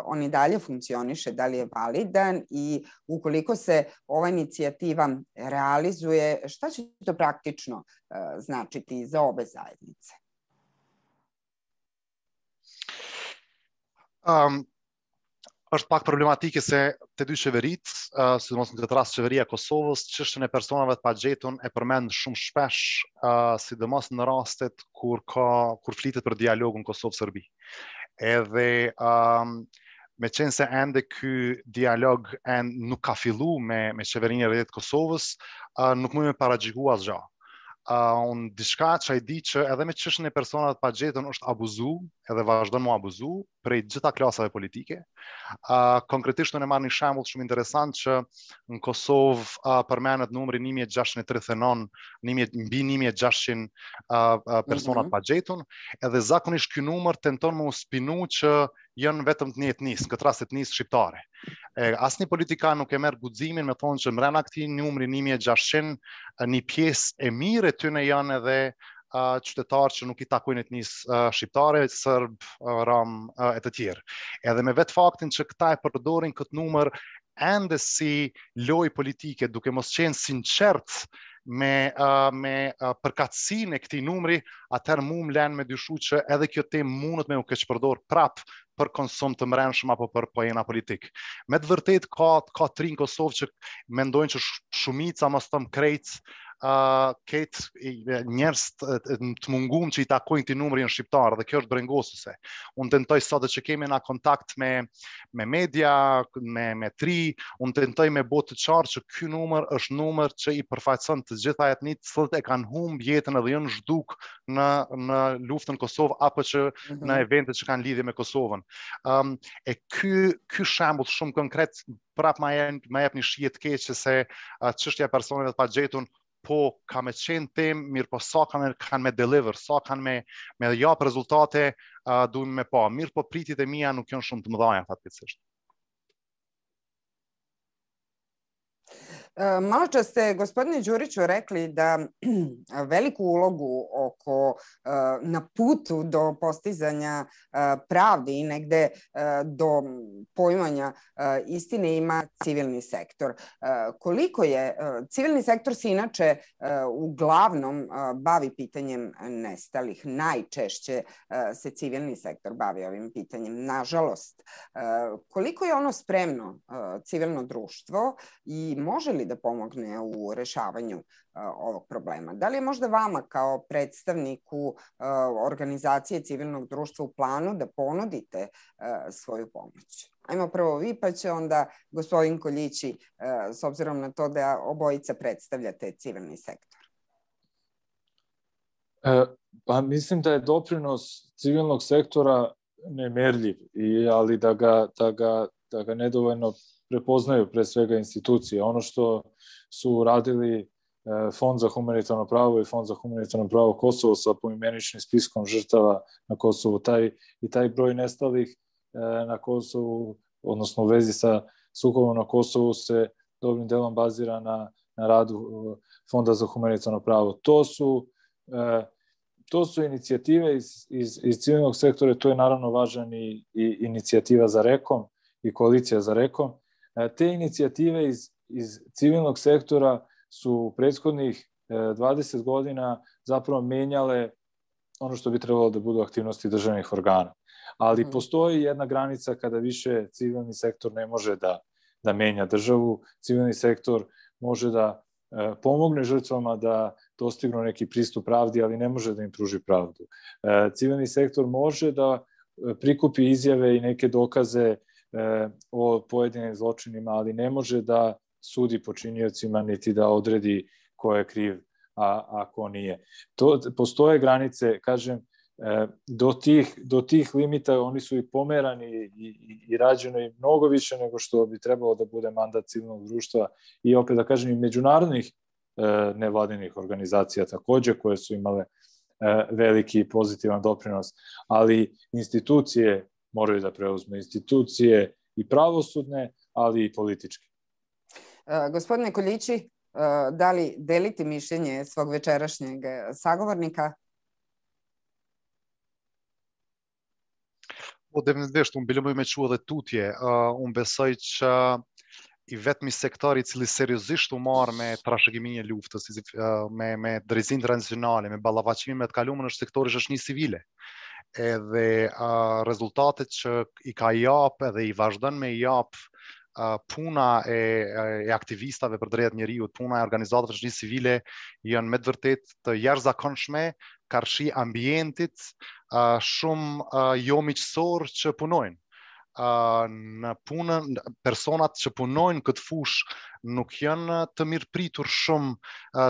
on i dalje funkcioniše, da li je validan i ukoliko se ova inicijativa realizuje, šta će to praktično značiti za obe zajednice? është pak problematike se të dy qeverit, sidomos në këtë rast qeveria e Kosovës, çështjen e personave të pagjetur e përmend shumë shpesh, sidomos në rastet kur flitet për dialogun Kosovë-Serbi. Edhe me qenë se ende ky dialog nuk ka fillu me qeverinë e rrjetit Kosovës, nuk mund me paragjyku asgjë. Unë diçka që ai di që edhe me çështjen e personave të pagjetur është abuzu, edhe vazhdon mu abuzu prej gjitha klasave politike. Konkretisht unë marr një shembull shumë interesant që në Kosovë përmendet numri 1639, mbi 1600 persona të pagjetur, edhe zakonisht ky numër tenton me u spinu që janë vetëm të një etnisë, në këtë rast etnisë shqiptare. Asnjë politikan nuk e merr guximin me thonë që mbrana këtij numri 1600 një pjesë e mirë e tyre janë edhe qytetarë që nuk i takojnë etnisë shqiptare, serb, rom e të tjerë. Edhe me vetë faktin që këta e përdorin këtë numër ende si lojë politike, duke mos qenë sinqert me përkatësinë e këtij numri, atëherë mu më lën me dyshu që edhe kjo temë mundet me u keqpërdor prap për konsum të mrenshëm apo për pojena politik. Me të vërtet ka tri në Kosovë që mendojnë që shumica mos thëm krejt ketë njerëz të mungum që i takojnë këtij numri në shqiptar, dhe kjo është brengosuese. Unë tentoj sot që kemi na kontakt me media, me tri, unë tentoj me botë të qartë që ky numër është numër që i përfaqëson të gjitha etnitë që e kanë humb jetën edhe janë zhduk në luftën Kosovë apo që në eventet që kanë lidhje me Kosovën. E ky shembull shumë konkret prap ma jep një shije të keqe se çështja e personave të pagjetur po ka me qenë temë, mirë po sa kanë me deliver, sa kanë me jap rezultate, duhem me pa. Mirë po pritjet e mia nuk janë shumë të mëdha fatkeqësisht. Malo čas ste, gospodine Đuriću, rekli da veliku ulogu na putu do postizanja pravde i negde do poimanja istine ima civilni sektor. Koliko je, civilni sektor se inače uglavnom bavi pitanjem nestalih. Najčešće se civilni sektor bavi ovim pitanjem, nažalost. Koliko je ono spremno, civilno društvo, i može li da pomogne u rešavanju ovog problema? Da li je možda vama kao predstavniku organizacije civilnog društva u planu da ponudite svoju pomoć? Ajmo prvo vi, pa će onda gospodin Koljići, s obzirom na to da obojica predstavljate civilni sektor. Pa mislim da je doprinos civilnog sektora nemerljiv, ali da ga nedovoljno prepoznaju pre svega institucije. Ono što su radili Fond za humanitarno pravo i Fond za humanitarno pravo Kosovo sa poimeničnim spiskom žrtava na Kosovu, taj broj nestalih na Kosovu, odnosno u vezi sa sukobom na Kosovu, se dobrim delom bazira na radu Fonda za humanitarno pravo. To su inicijative iz civilnog sektora, to je naravno važan i inicijativa za REKOM i koalicija za REKOM. Te inicijative iz civilnog sektora su prethodnih 20 godina zapravo menjale ono što bi trebalo da budu aktivnosti državnih organa. Ali postoji jedna granica kada više civilni sektor ne može da menja državu. Civilni sektor može da pomogne žrtvama da dostignu neki pristup pravdi, ali ne može da im pruži pravdu. Civilni sektor može da prikupi izjave i neke dokaze o pojedinim zločinima, ali ne može da sudi počiniocima niti da odredi ko je kriv, a ko nije. Postoje granice, kažem, do tih limita oni su i pomerani i rađeno i mnogo više nego što bi trebalo da bude mandat civilnog društva i opet da kažem i međunarodnih nevladinih organizacija takođe koje su imale veliki pozitivan doprinos, ali institucije moraju da preuzme, institucije i pravosudne, ali i političke. Gospodine Koljići, da li delite mišljenje svog večerašnjeg sagovornika? Definitivisht, unë bëllëmoj me qua dhe tutje. Unë besoj që i vetëmi sektor i cili seriozisht u marë me trashëgiminë e luftës, me drejtësinë tranzicionale, me ballavaqimin me të kalumën është sektori është një civile. edhe rezultatet që i ka jap edhe i vazhdon me i jap puna e aktivistave për drejtat njeriut, puna e organizatave shoqërisë civile janë me të vërtet të jashtëzakonshme karshi ambientit shumë jo miqësor që punojnë. Në punën, personat që punojnë këtë fush nuk janë të mirëpritur shumë,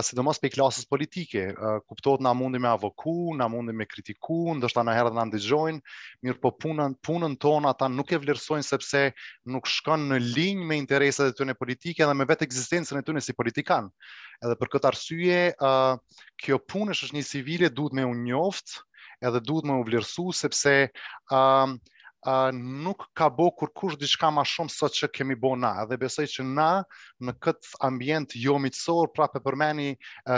sidomos pe klasës politike. Kuptohet na mundi me avoku, na mundi me kritiku, ndoshta na herë na ndëgjojnë, mirë po punën tonë ata nuk e vlerësojnë sepse nuk shkon në linjë me interesat e tyre politike dhe me vetë ekzistencën e tyre si politikan. Edhe për këtë arsye, kjo punë e shoqërisë civile duhet me u njoft, edhe duhet me u vlerësu sepse nuk ka bo kurkush diçka ma shumë sot që kemi bo na, dhe besoj që na në këtë ambient jo miqësor prapë përmeni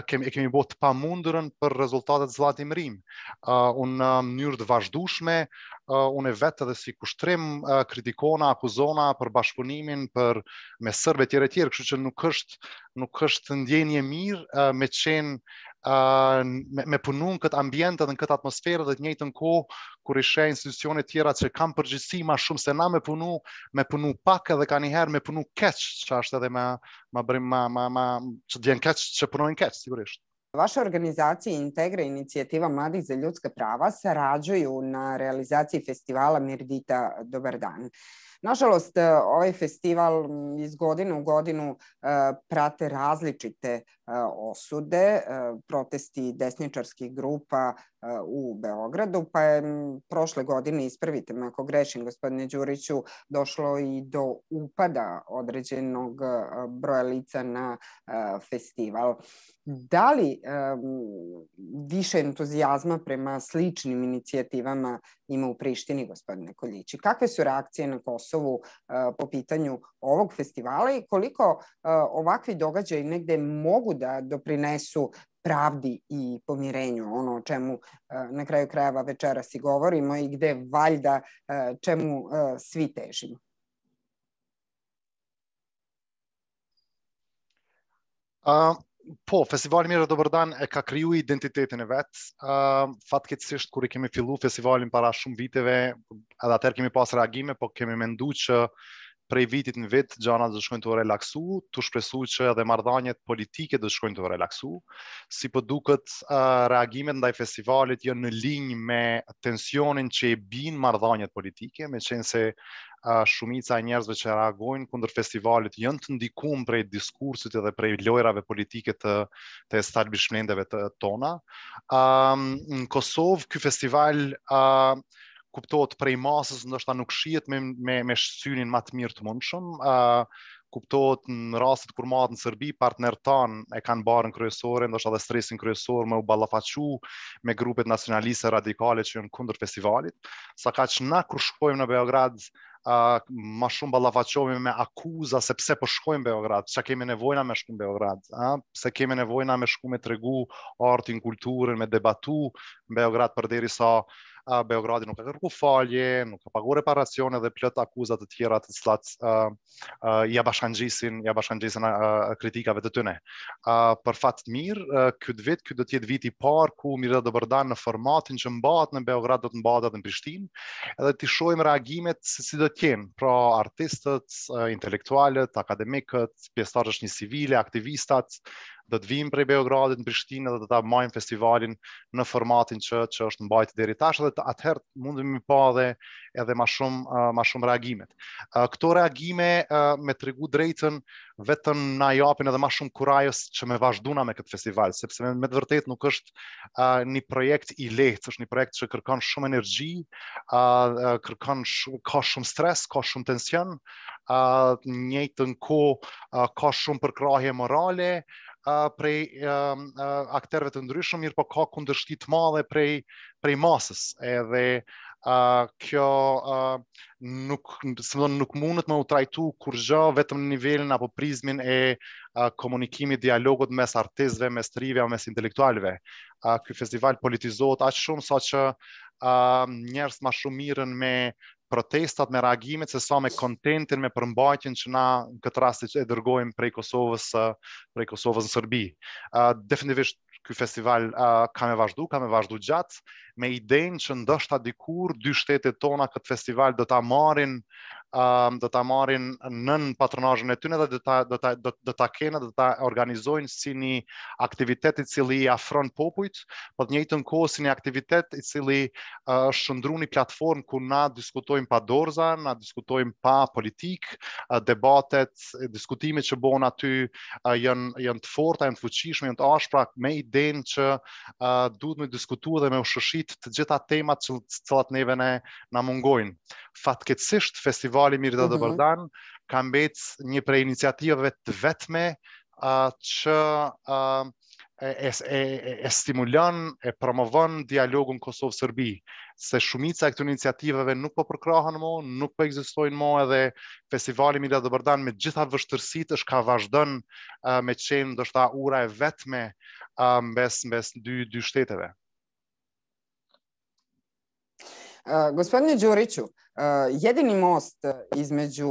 kemi bo të pamundurën për rezultatet zllatimërim. Unë në mënyrë të vazhdueshme unë vetë edhe si kushtrim kritikona, akuzona për bashkëpunimin me serbë tjerë, kështu që nuk është ndjenje mirë me qenë me punu në këtë ambient edhe në këtë atmosferë dhe të njëjtën kohë kur i sheh institucione tjera që kanë përgjegjësi ma shumë se na me punu pak edhe kanjëherë me punu keq, që është edhe që djen keq që punojnë keq, sigurisht. Vaša organizacija Integra inicijativa mladih za ljudska prava sarađuju na realizaciji festivala Mirdita Dobar dan. Nažalost, ovaj festival iz godine u godinu prate različite osude, protesti desničarskih grupa u Beogradu, pa je prošle godine, ispravite me ako grešim, gospodine Đuriću, došlo i do upada određenog broja lica na festival. Da li više entuzijazma prema sličnim inicijativama ima u Prištini, gospodine Koljići? Kakve su reakcije na Kosovu po pitanju ovog festivala i koliko ovakvi događaji negde mogu da doprinesu pravdi i pomirenju, ono o čemu na kraju krajeva večeras i govorimo i gde valjda čemu svi težimo? Po, festivali Mirë Dobar dan e ka kriju identitetin e vetë. Fatkeqësisht kur i kemi fillu festivalin para shumë viteve, edhe atëherë kemi pas reagime, po kemi mendu që prej vitit në vit gjanat do shkojnë të relaksu, të shpresu që edhe marrëdhëniet politike do shkojnë të relaksu. Si po duket, reagimet ndaj festivalit janë në linjë me tensionin që e bin marrëdhëniet politike, me qenë se shumica e njerëzve që reagojnë kundër festivalit janë të ndikuar prej diskursit edhe prej lojrave politike të establishmenteve tona. Në Kosovë ky festival kuptohet prej masës, ndoshta nuk shihet me synin më të mirë të mundshëm. Kuptohet në rastet kur marrët në Serbi, partnerët tanë e kanë barën kryesore, ndoshta dhe stresin kryesor me u ballafaqu me grupet nacionaliste radikale që janë kundër festivalit. Saqaq na kur shkojmë në Beograd, ma shumë ballafaqohemi me akuza se pse po shkojmë në Beograd, çka kemi nevojna me shku në Beograd, pse kemi nevojna me shku me tregu artin, kulturën, me debatu në Beograd përderisa Beogradi nuk ka kërku falje, nuk ka pagu reparacione dhe plot akuzat të tjera të cilat ja bashkangjisin kritikave të tyre. Për fat të mirë, ky do të jetë viti i parë ku Mirë Dobar dan në formatin që mbahet në Beograd do të mbahet edhe në Prishtinë, edhe të shohim reagimet se si do të jenë, pra artistët, intelektualët, akademikët, pjesëtarët e civile, aktivistat do të vijmë prej Beogradit në Prishtinë dhe do ta marrim festivalin në formatin që është mbajtur deri tash dhe atëherë mundemi pa edhe më shumë reagimet. Këto reagime me tregu drejtën vetëm na japin edhe më shumë kurajës që me vazhduna me këtë festival, sepse me të vërtetë nuk është një projekt i lehtë, është një projekt që kërkon shumë energji, ka shumë stres, ka shumë tension, në njëjtën kohë ka shumë përkrahje morale prej aktorëve të ndryshëm, mirë po ka kundërshtim të madhe prej masës, edhe kjo nuk mundet me u trajtu kurrë vetëm në nivelin apo prizmin e komunikimit, dialogut mes artistëve, mes trive, mes intelektualëve. Ky festival politizohet aq shumë sa që njerëz më shumë mirën me protestat, me reagimet, se sa me kontentin, me përmbajtjen që na në këtë rast e dërgojmë prej Kosovës në Serbi. Definitivisht ky festival ka me vazhdu gjatë, me idenë që ndoshta dikur dy shtetet tona këtë festival do ta marrin nën patronazhin e tyre dhe do ta kenë, do ta organizojnë si një aktivitet i cili i afron popujt, po të njëjtën kohë si një aktivitet i cili është shndruar një platformë ku na diskutojmë pa dorza, na diskutojmë pa politik, debatet, diskutimet që bëhen aty janë të forta, janë të fuqishme, janë të ashpra, me idenë që duhet me diskutuar dhe me u shëshit të gjitha temat që cilat neve na mungojnë. Fatkeqësisht festivali Mirë dhe Bërdan ka mbet një prej iniciativave të vetme që e stimulon, e promovon dialogun Kosovë-Serbi, se shumica e këtyre iniciativave nuk po përkrahen më, nuk po ekzistojnë më, edhe festivali Mirë dhe Bërdan me gjitha vështirësitë është ka vazhdon me qenë ndoshta ura e vetme mes dy shteteve. Gospodine Đuriću, jedini most između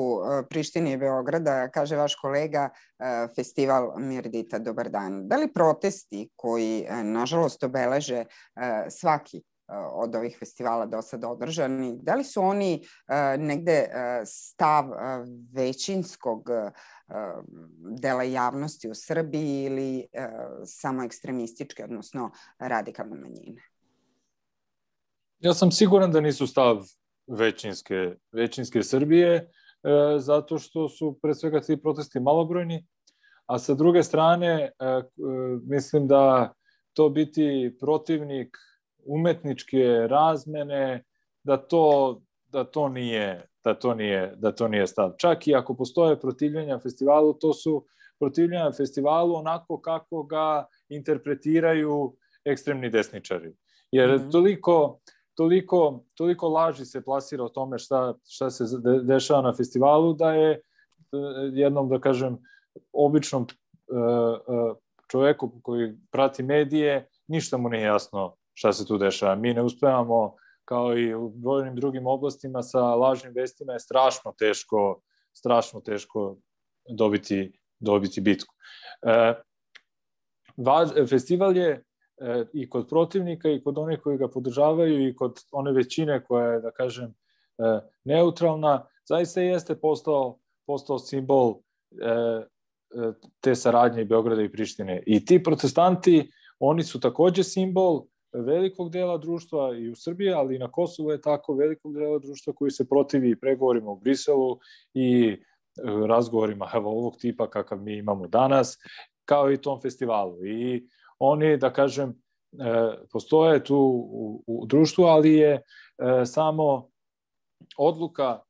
Prištine i Beograda, kaže vaš kolega, festival Mirdita Dobar dan. Da li protesti koji, nažalost, obeleže svaki od ovih festivala do sada održani, da li su oni negde stav većinskog dela javnosti u Srbiji ili samo ekstremističke, odnosno radikalne manjine? Ja sam siguran da nisu stav većinske Srbije, zato što su pre svega ti protesti malobrojni, a sa druge strane mislim da to biti protivnik umetničke razmene, da to nije stav. Čak i ako postoje protivljenja festivalu, to su protivljenja festivalu onako kako ga interpretiraju ekstremni desničari. Jer toliko laži se plasira o tome šta se dešava na festivalu, da je jednom, da kažem, običnom čoveku koji prati medije, ništa mu nije jasno šta se tu dešava. Mi ne uspevamo, kao i u brojnim drugim oblastima, sa lažnim vestima je strašno teško dobiti bitku. Festival je i kod protivnika i kod onih koji ga podržavaju i kod one većine koja je, da kažem, neutralna, zaista jeste postao simbol te saradnje Beograda i Prištine. I ti protestanti, oni su takođe simbol velikog dela društva i u Srbiji, ali i na Kosovu je tako, velikog dela društva koji se protivi pregovorima u Briselu i razgovorima ovog tipa kakav mi imamo danas, kao i tom festivalu. I oni, da kažem, postoje tu u društvu, ali je samo odluka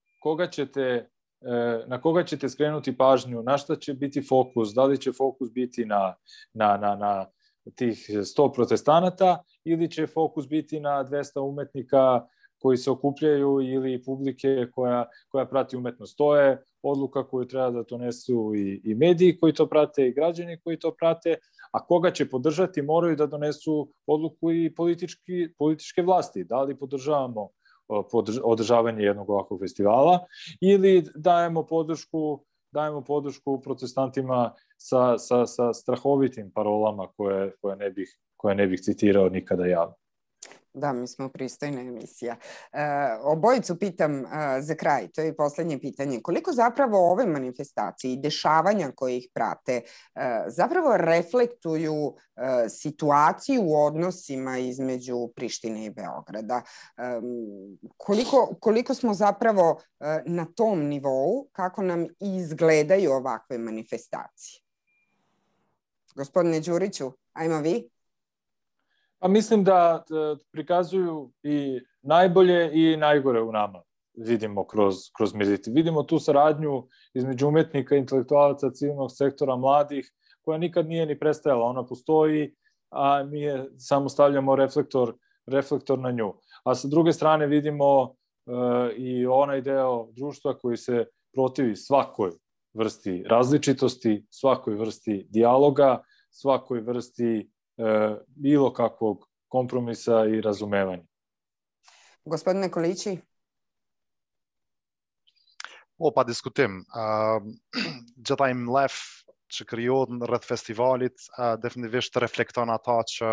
na koga ćete skrenuti pažnju, na šta će biti fokus, da li će fokus biti na tih 100 protestanata ili će fokus biti na 200 umetnika koji se okupljaju ili publike koja prati umetnost. To je odluka koju treba da donesu i mediji koji to prate i građani koji to prate, a koga će podržati moraju da donesu odluku i političke vlasti. Da li podržavamo održavanje jednog ovakvog festivala ili dajemo podršku protestantima sa strahovitim parolama koje ne bih citirao nikada javno. Da, mi smo pristojna emisija. Obojicu pitam za kraj, to je poslednje pitanje. Koliko zapravo ove manifestacije i dešavanja koje ih prate zapravo reflektuju situaciju u odnosima između Prištine i Beograda? Koliko smo zapravo na tom nivou, kako nam izgledaju ovakve manifestacije? Gospodine Đuriću, ajmo vi. Pa mislim da prikazuju i najbolje i najgore u nama, vidimo kroz Mirditi. Vidimo tu saradnju između umetnika, intelektualaca, civilnog sektora, mladih, koja nikad nije ni prestajala. Ona postoji, a mi je samo stavljamo reflektor na nju. A sa druge strane vidimo i onaj deo društva koji se protivi svakoj vrsti različitosti, svakoj vrsti dijaloga, svakoj vrsti bilo kakvog kompromisa i razumevanja. Gospodine Kolići? Pa diskutim. Gjitha im lef që krijohet rreth festivalit definitivisht reflekton ata që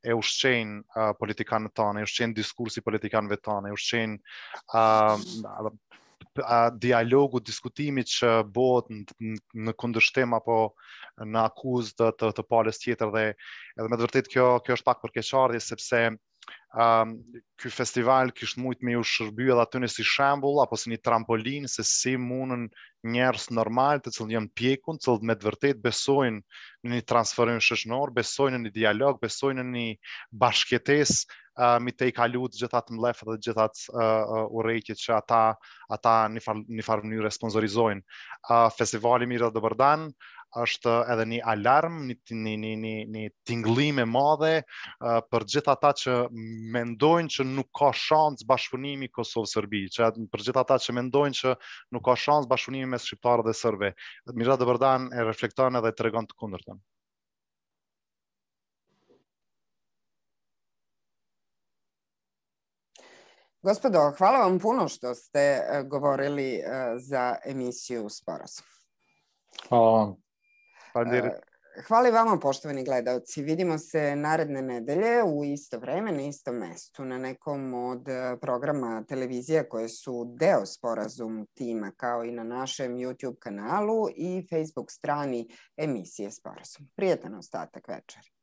e ushqejnë politikanët tanë, e ushqejnë diskursi politikanëve tanë, e ushqejnë dialogu, diskutimi që bëhet në kundërshtim apo në akuzë të palës tjetër dhe edhe me të vërtet kjo është pak përkeqardhje sepse ky festival kishte mujt me u shërby edhe aty si shembull apo si një trampolin se si mundën njerëz normal të cilët janë pjekun, të cilët me të vërtet besojnë në një transferim shoqëror, besojnë në një dialog, besojnë në një bashkëjetesë mi të i kalu të gjithat mlef dhe gjithat urrejtjet që ata një farë mënyrë sponsorizojnë. Festivali Mira dhe Bërdan është edhe një alarm, një tingëllim e madhe për gjithë ata që mendojnë që nuk ka shans bashkëpunimi Kosovë-Serbi, për gjithë ata që mendojnë që nuk ka shans bashkëpunimi mes shqiptarëve dhe serbëve. Mira dhe Bërdan e reflekton edhe tregon të kundërtën. Gospodo, hvala vam puno što ste govorili za emisiju Sporazum. Hvala vam. Hvala i vama, poštovani gledalci. Vidimo se naredne nedelje u isto vreme, na istom mestu, na nekom od programa televizije koje su deo Sporazum tima, kao i na našem YouTube kanalu i Facebook strani emisije Sporazum. Prijetan ostatak večeri.